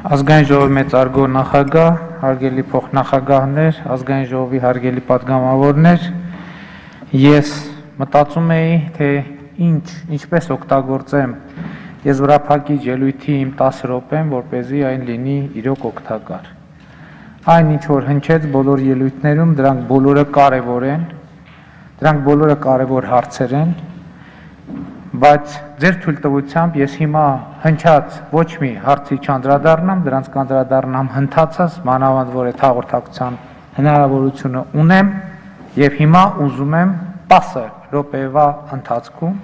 Ազգային ժողովի մեծարգո նախագահ, հարգելի փոխնախագահներ, ազգային ժողովի հարգելի պատգամավորներ, ես մտածում էի, թե ինչպես օգտագործեմ եզրափակիչ ելույթի իմ 10 րոպեն, որպեսզի այն լինի իրոք օգտակար։ Այն ինչ որ հնչեց բոլոր ելույթներում, դրանք բոլորը կարևոր են, դրանք բոլորը կարևոր հարցեր են, բայց ձեր թույլտվությամբ ես հիմա հնչած ոչ մի հարցի չանդրադառնամ, դրանց կանդրադառնամ հնդածած, մանավանդ որ այդ հաղորդակցության հնարավորությունը ունեմ եւ հիմա ուզում եմ 10 րոպեվա ընթացքում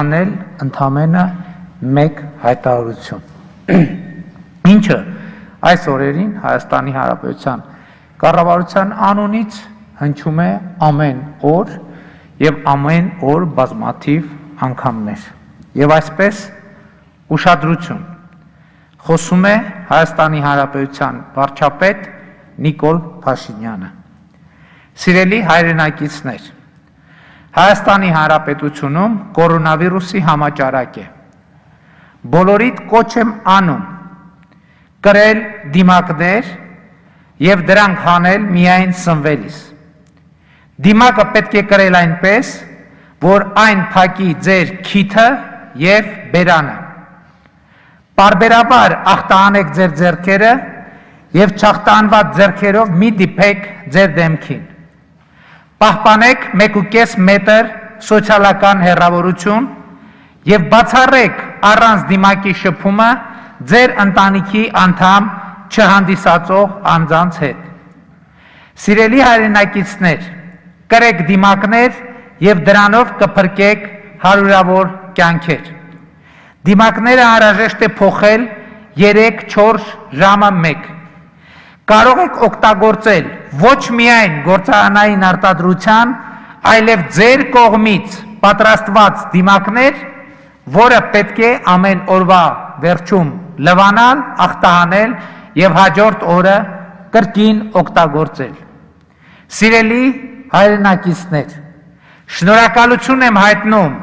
անել ընդամենը մեկ հայտարարություն, ինչը այս օրերին Հայաստանի Հանրապետության կառավարության անունից հնչում է ամեն օր եւ ամեն օր բազմաթիվ անգամներ եւ այսպես ուշադրություն խոսում է Հայաստանի Հանրապետության վարչապետ Նիկոլ Փաշինյանը։ Սիրելի հայրենակիցներ, Հայաստանի Հանրապետությունում կորոնավիրուսի համաճարակ է։ Բոլորիդ կոչ եմ անում կրել դիմակներ եւ դրանք հանել միայն սնվելիս։ Դիմակը պետք է կրել այնպես, որ այն փակի ձեր քիթը եւ բերանը։ Պարբերաբար ախտահանեք ձեր ձեռքերը եւ չախտահանված ձեռքերով մի դիպեք ձեր դեմքին։ Պահպանեք 1.5 մետր սոցիալական հեռավորություն եւ բացառեք առանց դիմակի շփումը ձեր ընտանիքի անդամ չհանդիսացող անձանց հետ։ Սիրելի հայրենակիցներ, կրեք դիմակներ եւ դրանով կփրկեք հարյուրավոր կյանքեր։ Դիմակները անհրաժեշտ է փոխել 3-4 ժամը մեկ։ Կարող եք օգտագործել ոչ միայն գործարանային արտադրության, այլև ձեր կողմից պատրաստված դիմակներ, որը պետք է ամեն օրվա վերջում լվանալ, ախտահանել եւ հաջորդ օրը կրկին օգտագործել։ Սիրելի հայրենակիցներ, շնորհակալություն եմ հայտնում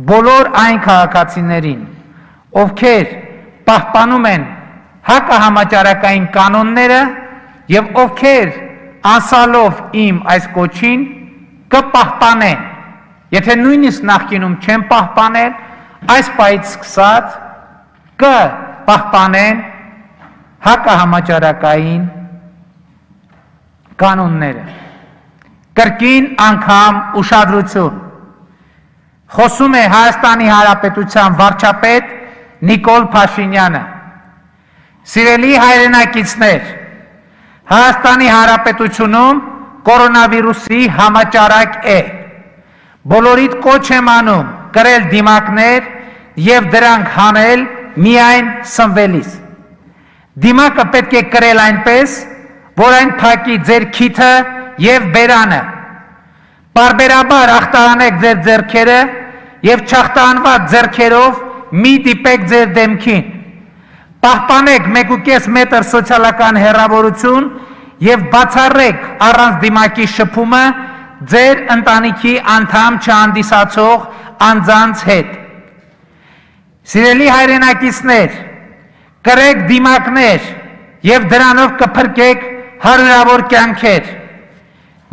բոլոր այն քաղաքացիներին, ովքեր պահպանում են հակահամաճարակային կանոնները եւ ովքեր անսալով իմ այս կոչին կպահպանեն, եթե նույնիսկ նախկինում չեն պահպանել, այս պահից սկսած կպահպանեն հակահամաճարակային կանոնները։ Կրկին անգամ ուշադրություն։ Խոսում է Հայաստանի Հանրապետության վարչապետ Նիկոլ Փաշինյանը։ Սիրելի հայրենակիցներ, Հայաստանի Հանրապետությունում կորոնավիրուսի համաճարակ է։ Բոլորիդ կոչ եմ անում կրել դիմակներ եւ դրանք հանել միայն սնվելիս։ Դիմակը պետք է կրել այնպես, որ այն փակի ձեր քիթը եւ բերանը։ Պարբերաբար ախտահանեք ձեր ձեռքերը եւ չախտահանված ձեռքերով մի դիպեք ձեր դեմքին։ Պահպանեք 1.5 մետր սոցիալական հեռավորություն եւ բացառեք առանց դիմակի շփումը ձեր ընտանիքի անդամ չհանդիսացող անձանց հետ։ Սիրելի հայրենակիցներ, կրեք դիմակներ եւ դրանով կփրկեք հարյուրավոր կյանքեր։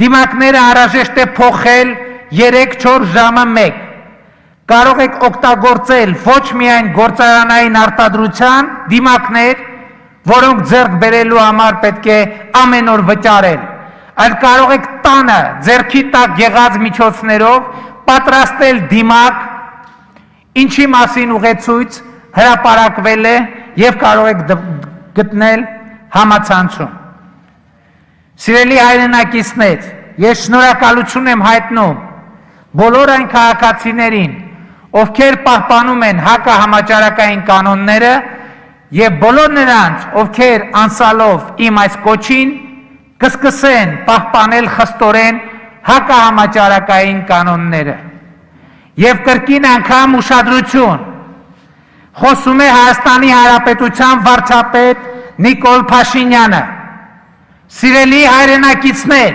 Դիմակները անհրաժեշտ է փոխել 3-4 ժամը մեկ։ Կարող եք օգտագործել ոչ միայն գործարանային արտադրության դիմակներ, որոնք ձեռք բերելու համար պետք է ամեն օր վճարել, այլ կարող եք տանը ձեռքի տակ եղած միջոցներով պատրաստել դիմակ, ինչի մասին ուղեցույց հրապարակվել է եւ կարող եք գտնել համացանցում։ Սիրելի հայրենակիցներ, ես շնորհակալություն եմ հայտնում բոլոր այն քաղաքացիներին, ովքեր պահպանում են հակահամաճարակային կանոնները եւ բոլոր նրանց, ովքեր անսալով իմ այս կոչին կսկսեն պահպանել խստորեն հակահամաճարակային կանոնները։ Եվ կրկին անգամ ուշադրություն, խոսում է Հայաստանի Հանրապետության վարչապետ Նիկոլ Փաշինյանը։ Սիրելի հայրենակիցներ,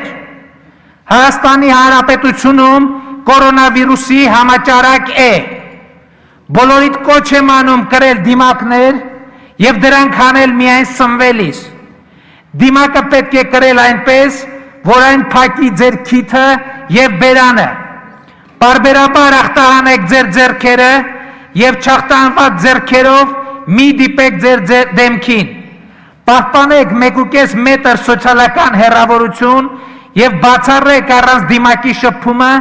Հայաստանի Հանրապետությունում կորոնավիրուսի համաճարակ է։ Բոլորիդ կոչ եմ անում կրել դիմակներ եւ դրանք անել միայն սնվելիս։ Դիմակը պետք է կրել այնպես, որ այն փակի ձեր քիթը եւ բերանը։ Բարբերաբար ախտահանեք ձեր ձեռքերը եւ չախտահանված ձեռքերով մի դիպեք ձեր դեմքին։ Պահպանեք 1.5 մետր սոցիալական հեռավորություն եւ բացառեք առանց դիմակի շփումը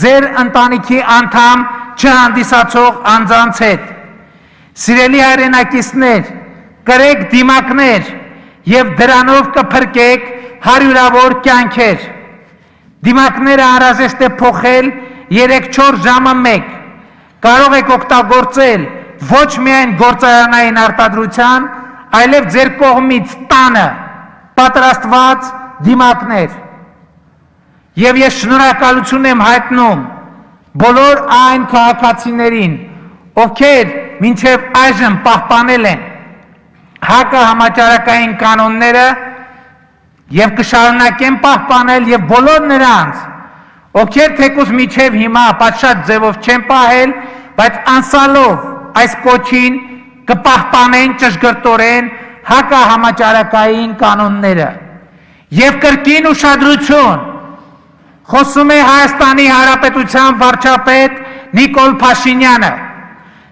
ձեր ընտանիքի անդամ չհանդիսացող անձանց հետ։ Սիրելի հայրենակիցներ, կրեք դիմակներ եւ դրանով կփրկեք հարյուրավոր կյանքեր։ Դիմակները անհրաժեշտ է փոխել 3-4 ժամը մեկ։ Կարող եք օգտագործել ոչ միայն գործարանային արտադրության, այլև ձեր կողմից տանը պատրաստված դիմակներ։ Եվ ես շնորհակալություն եմ հայտնում բոլոր այն քաղաքացիներին, ովքեր մինչև այժմ պահպանել են հակահամաճարակային կանոնները եւ կշարունակեն պահպանել եւ բոլոր նրանց, ովքեր թեկուզ միջև հիմա պատշաճ ձևով չեն պահել, բայց անսալով այս կոչին կպահպանեն ճշգրտորեն հակահամաճարակային կանոնները։ Եվ կրկին ուշադրություն, խոսում է Հայաստանի Հանրապետության վարչապետ Նիկոլ Փաշինյանը։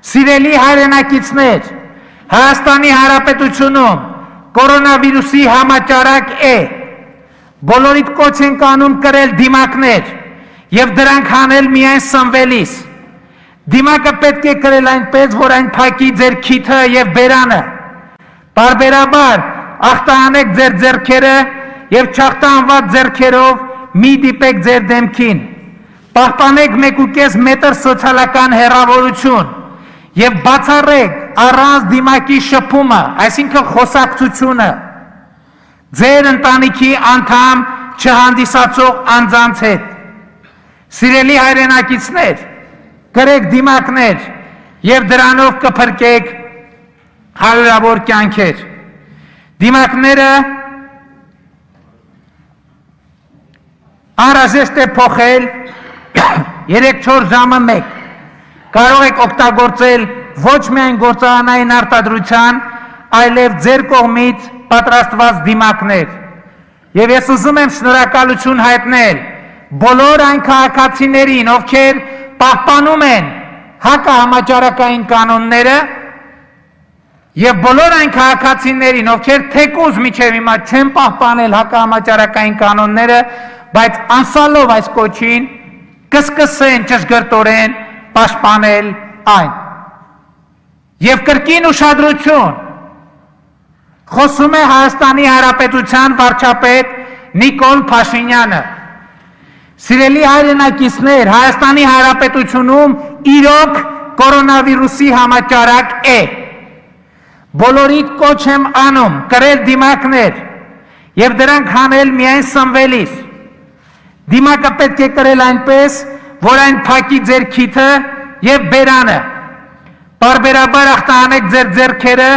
Սիրելի հայրենակիցներ, Հայաստանի Հանրապետությունում կորոնավիրուսի համաճարակ է։ Բոլորիդ կոչ ենք անում կրել դիմակներ եւ դրանք անել միայն սնվելիս։ Դիմակը պետք է կրել այնպես, որ այն փակի ձեր քիթը եւ բերանը։ Բարբերաբար ախտահանեք ձեր ձեռքերը եւ չախտահանված ձեռքերով մի դիպեք ձեր դեմքին։ Պահպանեք 1.5 մետր սոցիալական հեռավորություն եւ բացառեք առանց դիմակի շփումը, այսինքն խոսակցությունը ձեր ընտանիքի անդամ չհանդիսացող անձանց հետ։ Սիրելի հայրենակիցներ, կրեք դիմակներ եւ դրանով կփրկեք հարյուրավոր կյանքեր։ Դիմակները անհրաժեշտ է փոխել 3-4 ժամը մեկ։ Կարող եք օգտագործել ոչ միայն գործարանային արտադրության, այլև ձեր կողմից պատրաստված դիմակներ։ Եվ ես ուզում եմ շնորհակալություն հայտնել բոլոր այն քաղաքացիներին, ովքեր պահպանում են հակահամաճարակային կանոնները, եւ բոլոր այն քաղաքացիներին, ովքեր թեկուզ միջև հիմա չեն պահպանել հակահամաճարակային կանոնները, բայց անսալով այս կոչին կսկսեն ճշգրտորեն պաշտպանել այն։ Եվ կրկին ուշադրություն, խոսում է Հայաստանի Հանրապետության վարչապետ Նիկոլ Փաշինյանը։ Սիրելի հայրենակիցներ, Հայաստանի Հանրապետությունում իրոք կորոնավիրուսի համաճարակ է։ Բոլորիդ կոչ եմ անում կրել դիմակներ եւ դրանք հանել միայն սնվելիս։ Դիմակը պետք է կրել այնպես, որ այն փակի ձեր քիթը եւ բերանը։ Բարբերաբար ախտահանեք ձեր ձեռքերը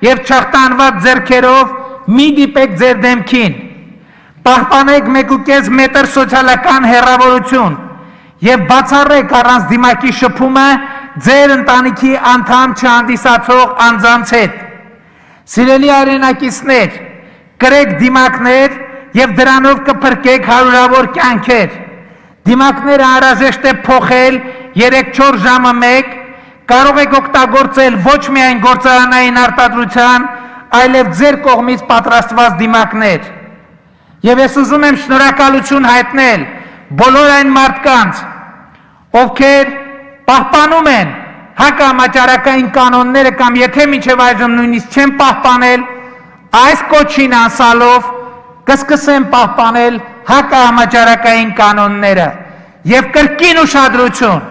եւ չախտահանված ձեռքերով մի դիպեք ձեր դեմքին։ Պահպանեք 1.5 մետր սոցիալական հեռավորություն եւ բացառեք առանց դիմակի շփումը ձեր ընտանիքի անդամ չհանդիսացող անձանց հետ։ Սիրելի հայրենակիցներ, կրեք դիմակներ եւ դրանով կփրկեք հարյուրավոր կյանքեր։ Դիմակները անհրաժեշտ է փոխել 3-4 ժամը մեկ, կարող եք օգտագործել ոչ միայն գործարանային արտադրության, այլև ձեր կողմից պատրաստված դիմակներ։ Եվ ես ուզում եմ շնորհակալություն հայտնել բոլոր այն մարդկանց, ովքեր պահպանում են հակահամաճարակային կանոնները կամ եթե մինչև այժմ նույնիսկ չեն պահպանել, այս կոչին անսալով կսկսեն պահպանել հակահամաճարակային կանոնները։ Եվ կրկին ուշադրություն,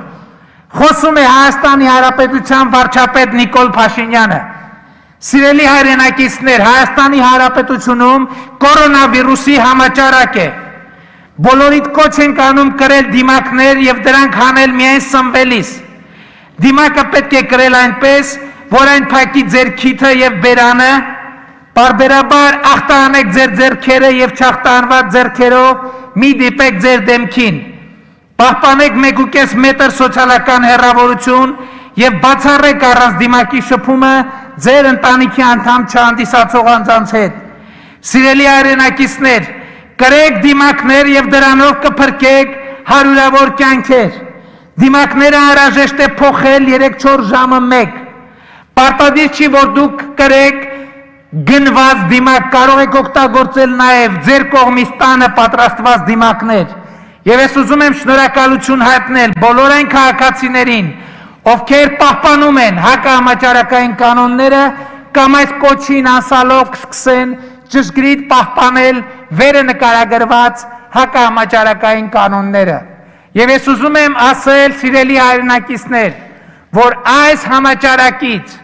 խոսում է Հայաստանի Հանրապետության վարչապետ Նիկոլ Փաշինյանը։ Սիրելի հայրենակիցներ, Հայաստանի Հանրապետությունում կորոնավիրուսի համաճարակ է։ Բոլորիդ կոչ ենք անում կրել դիմակներ եւ դրանք հանել միայն սնվելիս։ Դիմակը պետք է կրել այնպես, որ այն փակի ձեր քիթը եւ բերանը, բարբերաբար ախտահանեք ձեր ձեռքերը եւ չախտահանված ձեռքերով մի դիպեք ձեր դեմքին։ Պահպանեք 1.5 մետր սոցիալական հեռավորություն եւ բացառեք առանց դիմակի շփումը ձեր ընտանիքի անդամ չհանդիսացող անձանց հետ։ Սիրելի հայրենակիցներ, կրեք դիմակներ եւ դրանով կփրկեք հարյուրավոր կյանքեր։ Դիմակները անհրաժեշտ է փոխել 3-4 ժամը 1։ Պարտադիր չի, որ դուք կրեք գնված դիմակ, կարող եք օգտագործել նաև ձեր կողմից տանը պատրաստված դիմակներ։ Եվ ես ուզում եմ շնորհակալություն հայտնել բոլոր այն քաղաքացիներին, ովքեր պահպանում են հակահամաճարակային կանոնները կամ այս կոչին անսալով կսկսեն ճշգրիտ պահպանել վերը նկարագրված հակահամաճարակային կանոնները։ Եվ ես ուզում եմ ասել, սիրելի հայրենակիցներ, որ այս համաճարակից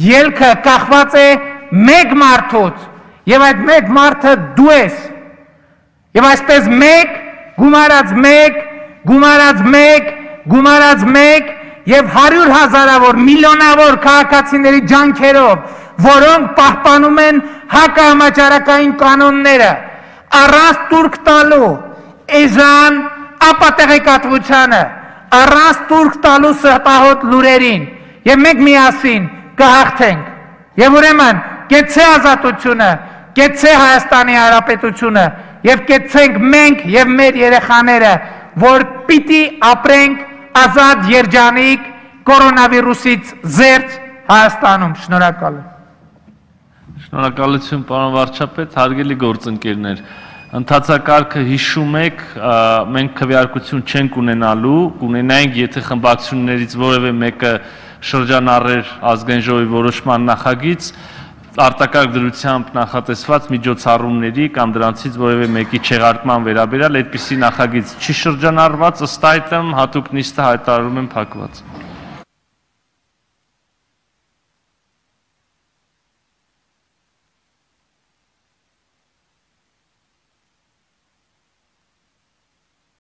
ելքը կախված է մեկ մարդուց, եւ այդ մեկ մարդը դու ես, եւ այսպես մեկ, գումարած մեկ, եւ 100,000-ավոր, միլիոնավոր քաղաքացիների ջանքերով, որոնք պահպանում են հակահամաճարակային կանոնները, առանց տուրք տալու էժան ապատեղեկատվությանը, առանց տուրք տալու սրտահոտ լուրերին, եւ մենք միասին կհաղթենք։ Եվ ուրեմն կեցցե ազատությունը, կեցցե Հայաստանի Հանրապետությունը եւ կեցցենք մենք եւ մեր երեխաները, որ պիտի ապրենք ազատ երջանիկ կորոնավիրուսից զերծ Հայաստանում։ Շնորհակալ եմ։ Շնորհակալություն, պարոն վարչապետ, հարգելի գործընկերներ։ Ընթացակարգը հիշում եք, մենք քվեարկություն չենք ունենալու, կունենայինք, եթե խմբակցություններից որևէ մեկը շրջանառեր ազգային ժողովի որոշման նախագիծ, արտակարգ դրությամբ նախատեսված միջոցառումների կամ դրանցից որևէ մեկի չեղարկման վերաբերյալ այդպիսի նախագիծ չի շրջանառված, ըստ այդմ հատուկ նիստը հայտարարում եմ փակված։